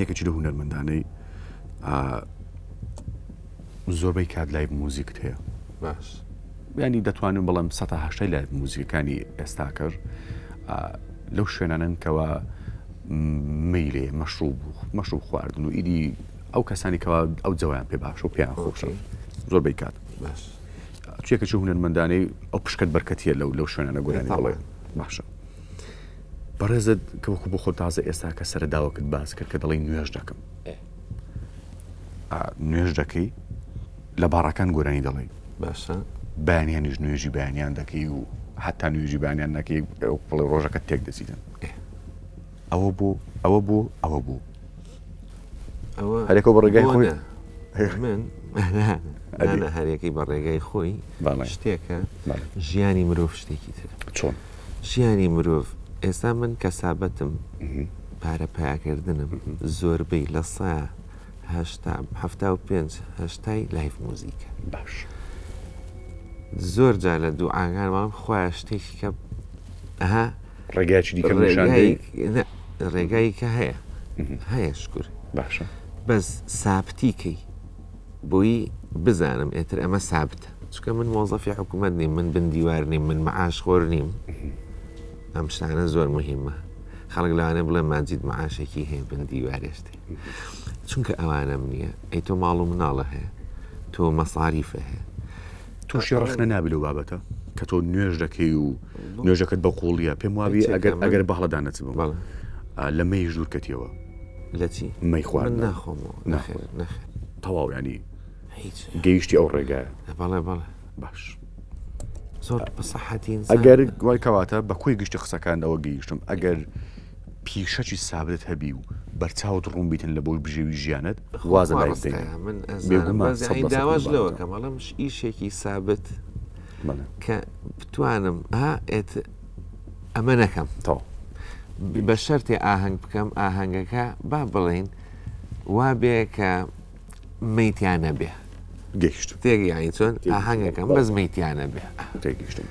یەکێکی لەو هونەرمەندانەی زۆربەی کات live موزیکت هەیە باش ینی دەتوانم بڵێم 180 live موزیکەکانی ئێستاکەش لەو شوێنانن کەوا میلێ مەشروب مەشروب خواردن و ئیدی ئەو کەسانی کەوا ئەو جەوایان پێ باشە و پێیان خۆشە زۆربەی کات باش چێکە چ هونەرمەندانەی ئەو پشکەت بەرکەتیە لەو لەو شوێنانە گۆرانی بڵێ باشە بەڕێزت کە وەکو بۆ خۆت تازە ئێستا کە سەرە داوەکت باس کرد کە دەڵێی نوێژ دەکەم نوێژ دەکەی لە باڕەکان گۆرانی دەڵێی باشە بەیانیانیش نوێژی بەیانیان دەکەی و حتا نوێژی بەیانیان نەکەی بڵێ ڕۆژەکە تێک دەچیتن ئەوە بوو ئەوە بوو ئەوە بوو ئەوە هەرێکە بە ڕێگای خۆی من هەرەکەی بە ڕێگای خۆی شتێکە ژیانی مرۆڤ شتێکی تر چۆن ژیانی مرۆڤ ئێستا من کەسابەتم پارە پەیاکردنم زۆربەی لە سا هەشتا هەفتا و پێنج هەشتای live موزیکە باش زۆر جار لە دوعاکان وام خوایە شتێکی کە ئەها ڕێگایکی دیکە نیشان ڕێگای کە هەیە هەیە شکر باشە بەس سابتی کەی بۆی بزانم ئێتر ئەمە سابتە چونکە من مۆزەفی حکوومەت نیم من بن دیوار نیم من معاش خۆر نیم ئەم شتانە زۆر مهمە خەڵک لەوانەیە بڵێ ماجید معاشێکی هەیە بن دیوارێشتێ چونکە ئەوانەم نییە ئەی تۆ ماڵ و مناڵە هەیە تۆ مەساریفە هەیە تووشی ڕەخنە نابی لەو بابەتە کە تۆ نوێژ دەکەی و نوێژەکەت بە قوڵیە پێم وابی ئەگەر ئەگەر بەهڵەدا نەچبم لە مەیش دوورکەتیەوە لە چی؟ مەی خواردن ناخۆمەوە نەخێر نەخێر تەواو ینی هیچ گەیشتی ئەو ڕێگایە بەڵێ بەڵێ باش زۆر بەسەحەتی ئەگەر وای کەواتە بە کۆی گشتی قسەکان ئەوە گەیشتم ئەگەر پیشەکی سابت هەبی و بەرچاوت ڕوون بیتن لە بۆی بژێوی ژیانت وازە لای من بێگومان داواش لەوە کەم ئەڵێم ئیشێکی سابت کە بتوانم ها ئێت ئەمە نەکەم تەواو. بە شەرتێ ئاهەنگ بکەم ئاهەنگەکە با بڵێین وا بێ کە مەیتیان نەبێ گەیشتم تێگەیانی چۆن ئاهەنگەکەم بەس مەیتیان نەبێ تێگەیشتم.